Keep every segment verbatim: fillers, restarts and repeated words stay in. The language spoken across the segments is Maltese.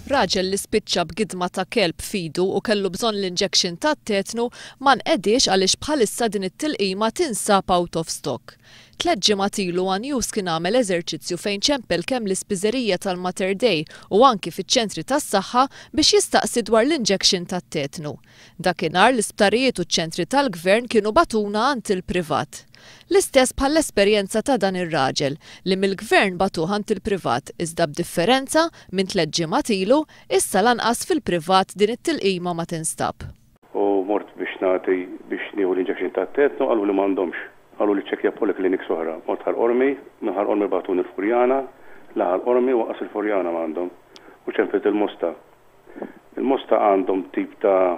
Raġel li spiċċa b'gidma ta' kelb f'idu u kellu bżonn l-injection tat-tetnu ma nqediex għaliex bħalissa din it-tilqima tinsab out of stock. Tliet ġimgħat ilu One News kien għamel eżerċizzju fejn ċempel kemm l-ispiżerija tal-Mater Dei u anki fiċ-ċentri tas-saħħa biex jistaqsi dwar l-injection tat-tetnu. Dakinhar l-isptarijiet u ċ-ċentri tal-gvern kienu bagħtuna għand il-privat. L-istess bħall-esperjenza ta' dan ir-raġel li mill-gvern bagħtuh għand il-privat, iżda b'differenza minn tliet ġimgħat ilu, issa lanqas fil-privat din it-tilqima ma tinstab. U mort biex nagħti biex nieħu l-injection tat-tetnu, qalu li m'għandhomx. Qalu li ċċekkja polyclinics oħra. Mort Ħal Qormi, minn Ħal Qormi bagħtuni l-Furjana, la Ħal Qormi u lanqas il-Furjana m'għandhom. U ċempilt il-Mosta. Il-Mosta għandhom tip ta'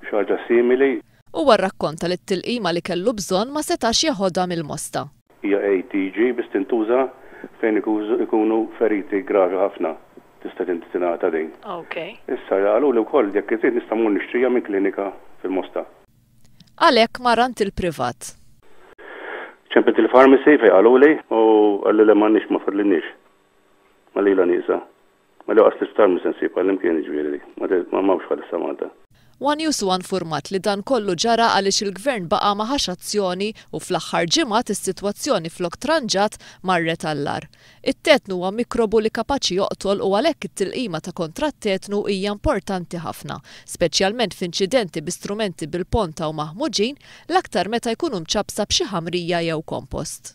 xi ħaġa simili. Huwa rrakkonta li t-tilqima li kellu bżonn ma setax jeħodha mill-Mosta. Hija A T G, biss tintuża fejn ikunu feriti gravi ħafna. Tista' tingħata din. Okay. Issa qalu li wkoll jekk irid nista' mmur nixtrija minn klinika fil-Mosta. Għalhekk mar għand il-privat. Ċempilt il-pharmacy fejn qaluli u qalli li m'għandniex, ma fadlilniex. Ma lila nieqsa. Ma li qas l-isptar mhux se nsib għall-imkien, ġifieri. Ma m'hawnx bħalissa Malta. One News huwa informat li dan kollu ġara għaliex il-gvern baqa' ma ħax azzjoni u fl-aħħar ġimgħat is-sitwazzjoni flok tranġat marret għall-agħar. It-tetnu huwa mikrobu li kapaċi joqtol u għalhekk it-tilqima ta' kontra t-tetnu hija importanti ħafna, speċjalment f'inċidenti bi strumenti bil-ponta u maħmuġin, l-aktar meta jkunu mċappsa b'xi ħamrija jew kompost.